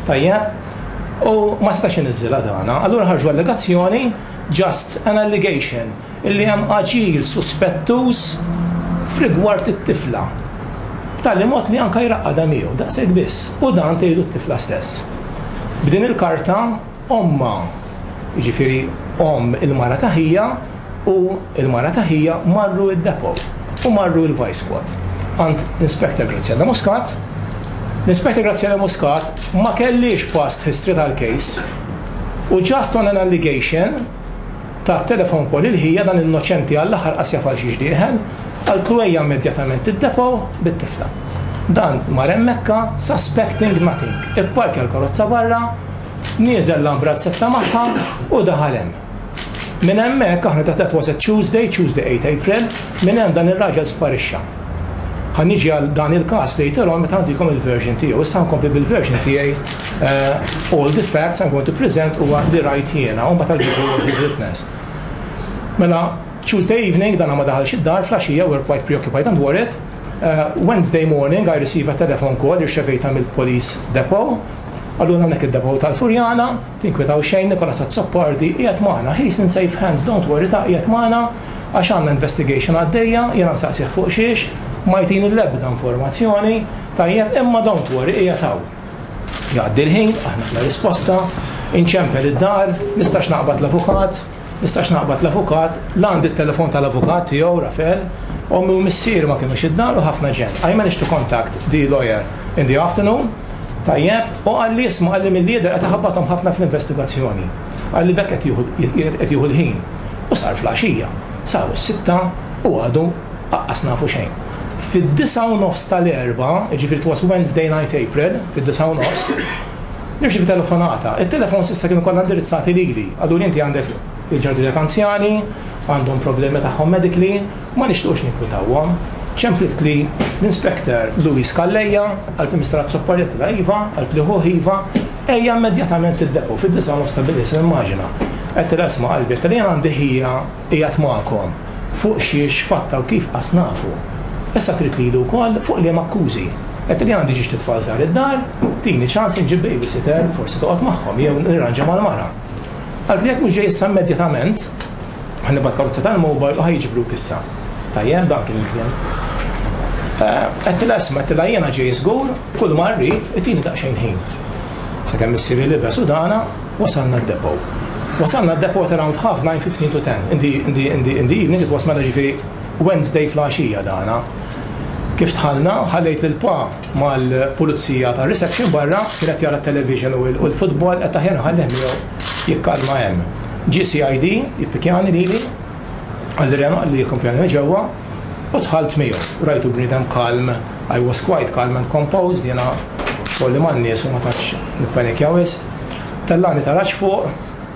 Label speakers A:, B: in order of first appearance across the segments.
A: Tajjeb? U ma setax iniżżilha dana. Allura ħarġu allegazzjoni, just an allegation, illi hemm aġir suspettuż f'rigward it-tifla. B'tali mod li anka jraqqadha miegħu, daqshekk biss. U dan tgħidu t-tifla stess. B'din il-karta ommha, jiġifieri omm il-mara ta' ħija u l-mara ta' ħija marru d-depot u marru l-Vice Squad għand l-Inspector Graziella Muscat. L-Inspector Graziella Muscat ma kellhiex past history tal-case u just on an allegation ta' telefon call il-ħija dan innoċenti għall-aħħar qas jaf għal xiex dieħel, qaltlu ejja immedjatament id-depot bit-tifla. Dan mar hemmhekka suspecting nothing. Ipparkja l-karozza barra, nieżel l-ambrazzetta magħha u daħal hemm. Minn hemmhekk aħna ta' that was a Tuesday, Tuesday 8 April, minn hemm dan ir-raġel sparixxa. Ħa niġi għal dan il-każ later on meta għandikom il-version tiegħu. Issa nkompli bil-version tiegħi all the facts I'm going to present huwa li rajt jiena u mbagħad I'll give you what we've witnessed. Mela, Tuesday evening dan ma daħalx id-dar fl-għaxija we're quite preoccupied and worried. Wednesday morning I receive a telephone call irċevejta mill-police depot. Allura hawnhekk id-depot tal-Furjana, Tinkwetaw xejn, Nicholas Azzopardi qiegħed magħna, he's in safe hands, don't worry ta' qiegħed magħna għax għandna investigation għaddejja, jiena nsaqsih fuq xiex, ma jtini l-ebda informazzjoni, tajjeb, imma don't worry qiegħed hawn. Jgħaddi l-ħin, aħna bla risposta, inċempel id-dar, nistax naqbad l-avukat, nistax naqbad l-avukat, la għandi t-telefon tal-avukat tiegħu, Rafael, ommi u missieri ma kinux id-dar u ħafna ġenn. I managed to contact the lawyer in the afternoon, Tajjeb, u qalli isma' qalli milli jidher qed iħabbathom ħafna fl-investigazzjoni. Qalli b'hekk qed jieħu qed jieħu l-ħin. U sar fl-għaxija. Saru s-sitta u għadu aqqas nafu xejn. Fid-disgħa u nofs tal-Erbgħa, jiġifieri it was Wednesday night April, fid-disgħa u nofs, nirċievi telefonata. It-telefons issa kienu kollha indirizzati lili. Qaluli inti għandek il-ġardinek anzjani, għandhom problemi tagħhom medically, Ma nixtiequx ninkwitawhom. Ċemplitli l-Inspector Louise Calleja, qaltli Mister Azzopardi, għedtilha iva, qaltli ħuh iva, ejja immedjatament id-depot fid-9:30 ta' bil-lejl se nimmaġina. Għedtilha isma' qalbi, għedtilha jien għandi ħija qiegħed magħkom, fuq xiex fatta u kif qas nafu. Issa trid lili wkoll, fuq liema akkużi? Għedtilha jien għandi ġiex tfal żgħar id-dar, tini ċans inġib babysitter, forsi toqgħod magħhom jew nirranġa mal-mara. Qaltli jekk mhux ġej issa immedjatament, Ħa nibgħat karozza tal-mobile u ħa jiġbruk issa. Tajjeb, dan kien il-kliem. Għedtilha isma', għedtilha jiena ġej żgur, kull ma rrid, itini daqsxejn ħin. Sakemm missieri libes u dana, wasalna d-depot. Wasalna d-depot around half nine, 15 to 10. In the, in the, in the, in the evening, it was mela ġifieri Wednesday fl-għaxija dana. Kif dħalna, ħallejt lil pa mal-pulizija ta' reception barra, kien qed jara t-television u l-futbol, qed aħjar nħallih miegħu jikkalma hemm. Ġie CID jippikjani lili, qalli Reno qalli jikkumpjani minn ġewwa, u dħalt miegħu. Rajtu bniedem kalm, I was quite calm and composed, jiena xogħli man-nies u ma tantx nippanikja wisq. Tellani taraġ fuq,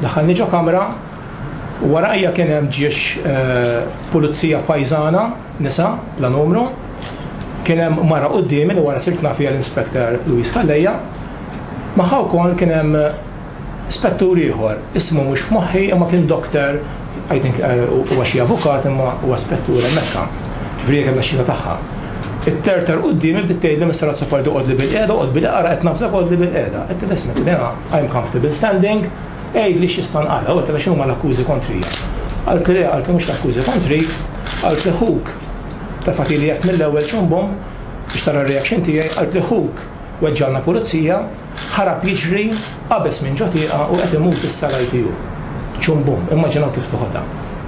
A: daħħalni ġo kamra, u warajja kien hemm ġiex pulizija pajżana, nisa, bla numru. Kien hemm mara quddiemi li wara sirt naf hija l-Inspector Louise Calleja. Magħha wkoll kien hemm spettur ieħor, ismu mhux f'moħħi imma kien doctor, I think huwa xi avukat imma huwa spettur hemmhekk. Ġifieri hija kellha x-xhieda tagħha. It-terter quddiemi bdiet tgħidli Mister Azzopardi oqgħodli bilqiegħda, oqgħod bilqiegħda, qed nafżak oqgħodli bilqiegħda. Għedtilha isma' jiena I'm comfortable standing, Għidli x'jista' nqala' u għedtilha x'inhuma l-akkużi kontrija. Qaltli le, qaltli mhux l-akkużi kontrik, qaltli ħuk tefgħetili hekk mill-ewwel ċumbum biex tara r-reaction tiegħi, qaltli ħuk weġġalna pulizija, ħarab jiġri, qabeż minn ġo tieqa u qed imut issa l-ITU. Ċumbum, immaġinaw kif toħodha.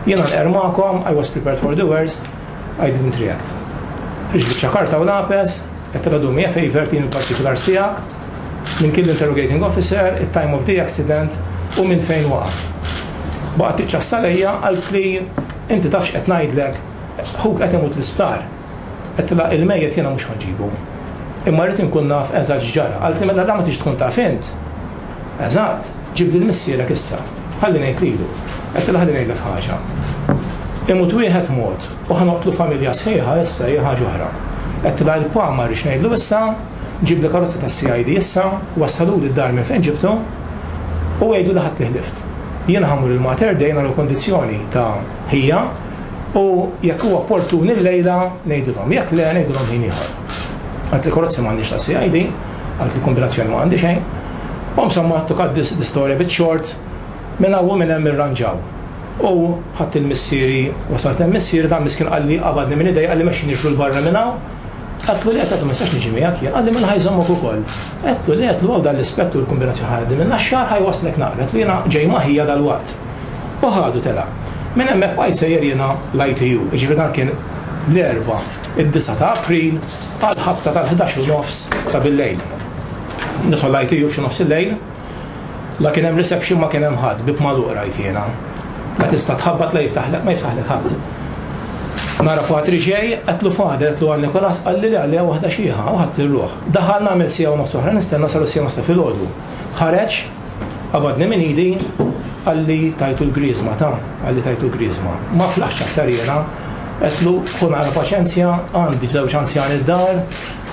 A: Jiena nqerr magħkom, I was prepared for the worst, I didn't react. Ħriġt biċċa karta u lapes, għedtilha do me a favor, tini l-particulars tiegħek, Min kien l-interrogating officer, it-time of the accident u minn fejn waqa'. Baqgħet tiċċassa lejja qaltli inti taf x'qed ngħidlek, ħuk qed imut l-isptar. Għedtilha il-mejjet jiena mhux ħa nġibu. Imma rrid inkun naf eżatt x'ġara. Qaltli mela la ma tridx tkun taf int. Eżatt, ġib lil missierek issa. Ħalli ngħid lilu. Għedtilha ħalli ngħidlek ħaġa. Imut wieħed mod u ħa noqtlu familja sħiħa issa hija ħaġa oħra. Għedtilha il-pa ma rridx ngħidlu issa, Ġibli karozza tas-CID issa, wassaluli d-dar minn fejn ġibtu u għidu li ħadt li ħlift. Jiena ħa mmur il-Mater Dei nara l-kundizzjoni ta' ħija u jekk huwa opportun illejla ngħidilhom, jekk le ngħidilhom ħin ieħor. Qaltli karozzi m'għandniex tas-CID, qaltli kombinazzjoni ma għandi xejn. U insomma, to cut this, the story a bit short, minn hawn u minn hemm irranġaw. U ħadt il-missieri, wasalt hemm missieri, dan miskin qalli qabadni minn idej, qalli mexxi niġru 'l barra minn hawn. Għedtlu le, għedtlu ma nistax niġi miegħek jien. Qalli mela ħa jżommok ukoll. Għedtlu le, għedtlu hawn dan l-ispettur kombinazzjoni ħa jgħaddi min-Naxxar ħa jwasslek naqra. Għedtlu jiena ġej ma' ħija dalwaqt. U ħadu telaq. Minn hemmhekk bqajt sejjer jiena l-ITU, jiġifieri dan kien l-Erbgħa, id-disgħa ta' April għall-ħabta tal-11 u nofs ta' bil-lejl. Nidħol l-ITU f'xi nofs il-lejl, la kien hemm reception ma kien hemm ħadd, bieb magħluq rajt jiena. La tista' tħabbat la jiftaħlek, ma jiftaħlek ħadd. Nara patri ġej, għedtlu father, għedtlu għal Nikolas, qalli le qalli hawn waħda xiħa, u ħadt ir-ruħ. Daħal nagħmel siegħa u nofs oħra nistenna saru s-siegħa u nofs ta' filgħodu. Ħareġ, qabadni minn idi, qalli tajtu l-griżma ta, qalli tajtu l-griżma. Ma flaħtx aktar jiena, għedtlu ħu naqra paċenzja, għandi żewġ anzjani d-dar,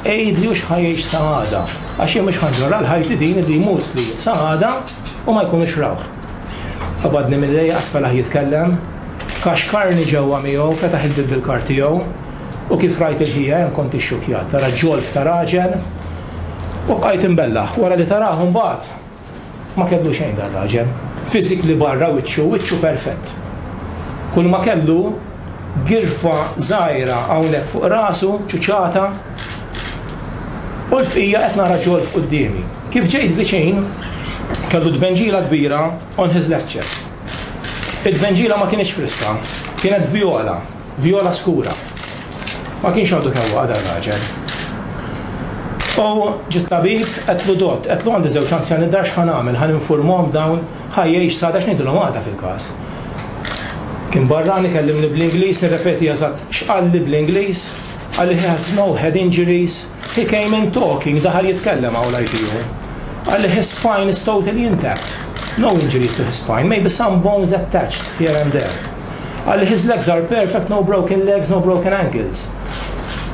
A: Għidli hux ħa jgħix sa għada, għax jien mhux ħa nġorr għal ħajti din li jmutli sa għada u ma jkunux rawh. Qabadni minn idejja qas felaħ jitkellem, kaxkarni ġewwa miegħu, fetaħ il-bieb bil-kard tiegħu u kif rajt il-ħija hemm kont ixxukkjat, tara ġolf ta' raġel u bqajt imbellaħ. Wara li tarah imbagħad Ma kellu xejn dar-raġel. Physically barra wiċċu, wiċċu perfett. Kull ma kellu girfa żgħira hawnhekk fuq rasu, ċuċata, u l-bqija qed nara ġolf quddiemi. Kif ġejt viċin, kellu tbenġila kbira on his left chest. It-tbenġila ma kinitx friska, kienet vjola. Vjola skura. Ma kienx għadu kemm waqa' dar-raġel. U ġie t-tabib, għedtlu dott, għedtlu għandi żewġ anzjani d-dar x'ħa nagħmel, ħa ninfurmhom dawn, ħa jgħix s'għada x'ngħidilhom għada fil-każ. Kien barrani kellimni bl-Ingliż, nirrepeti eżatt x'qalli bl-Ingliż, qalli he has no head injuries, he came in talking, daħal jitkellem hawn l-ITU. Qalli his spine is totally intact, no injuries to his spine, maybe some bones attached here and there. Qalli his legs are perfect, no broken legs, no broken ankles.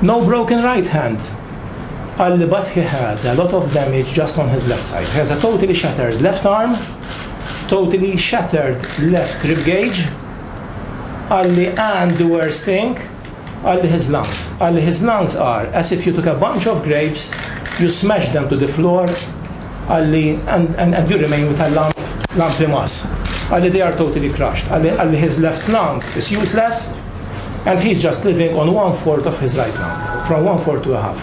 A: No broken right hand. Qalli but he has a lot of damage just on his left side. He has a totally shattered left arm, totally shattered left rib gauge. Qalli and the worst thing, qalli his lungs. Qalli his lungs are as if you took a bunch of grapes, you smashed them to the floor, qalli and, and, and you remain with a lump, lumpy mass. Qalli they are totally crushed. Qalli, qalli his left lung is useless and he's just living on one fourth of his right lung, from one fourth to a half.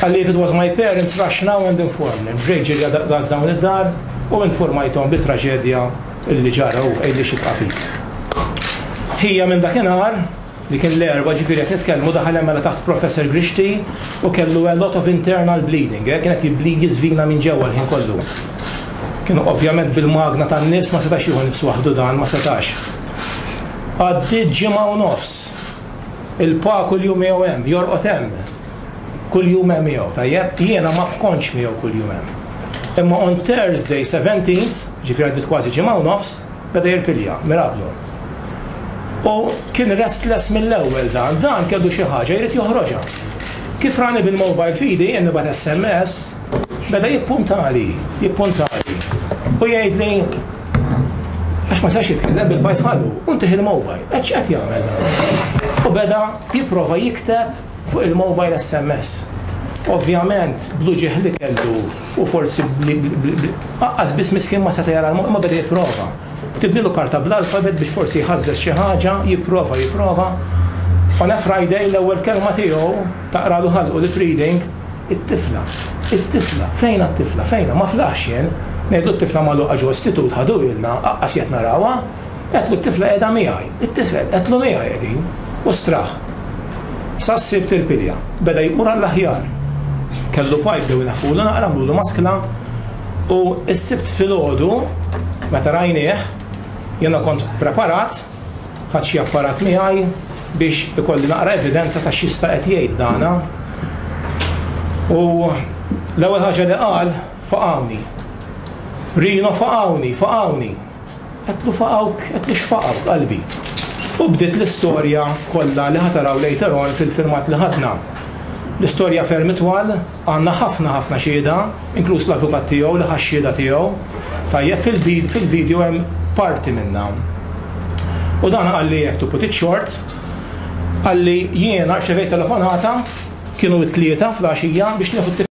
A: Qalli if it was my parents rush now and inform them. Ġej ġirja daqs dawn id-dar u informajthom bit-traġedja illi ġara u għidli xi tqafik. Ħija minn dakinhar li kien l-Erbgħa, ġifieri qed nitkellmu, daħal hemm mela taħt Professor Grixti u kellu a lot of internal bleeding, eh, kien qed jibblid jiżvina minn ġewwa l-ħin kollu. Kien ovvjament bil-magna tan-nifs ma setax jieħu nifs waħdu dan, ma setax. Għaddiet ġimgħa u nofs. Il-pa kuljum miegħu hemm, jorqod hemm. Kuljum hemm miegħu, tajjeb? Jiena ma kontx miegħu kuljum hemm. Imma on Thursday 17th, ġifieri għaddiet kważi ġimgħa u nofs, Beda jirpilja, miraklu. U kien restless mill-ewwel dan, dan kellu xi ħaġa jrid joħroġha. Kif rani bil-mobile f'idi, jien nibgħat SMS, beda jippuntali, jippuntali. U jgħidli, għax ma sax jitkellem bil-bajt ħallu, u ntih il-mobile, qed x'qed jagħmel dan. U beda jipprova jikteb fuq il-mobile SMS. Ovvjament, bl-uġigħ li kellu u forsi aqqas biss miskin ma seta' jara l-imma beda jipprova. Ktibnilu karta bl-alfabet biex forsi jħażżeż xi ħaġa, jipprova, jipprova. On a Friday l-ewwel kelma tiegħu taqralu ħalqu lip reading, it-tifla, it-tifla, fejnha t-tifla, fejnha, ma flaħx jien. Ngħidlu t-tifla magħluqa ġo istitut ħaduhielna, aqqas qed narawha. Għedtlu t-tifla qiegħda miegħi, it-tifel, għedtlu miegħi qegħdin. U straħ. Sas-Sibt irpilja. Beda jmur għall-aħjar. Kellu pipe bdew ineħħulu naqra, għamlulu maskla. U s-Sibt filgħodu, meta rajnieh, jiena kont preparat, ħadt xi apparat miegħi biex ikolli naqra evidenza ta' x'jista' qed jgħid dana. U l-ewwel ħaġa li qal, faqgħuni. Rino faqgħuni, faqgħuni. Għedtlu faqgħuk, għedtlu x'faqgħuk qalbi. U bdiet l-istorja kollha li ħa taraw later on fil-filmat li ħadna. L-istorja ferm itwal, għandna ħafna ħafna xhieda, inkluż l-avukat tiegħu li ħa x-xhieda tiegħu. Tajjeb fil-video hemm parti minnha. U dan qalli hekk to put it short, qalli jiena rċevejt telefonata, kienu t-tlieta fl-għaxija biex nieħu.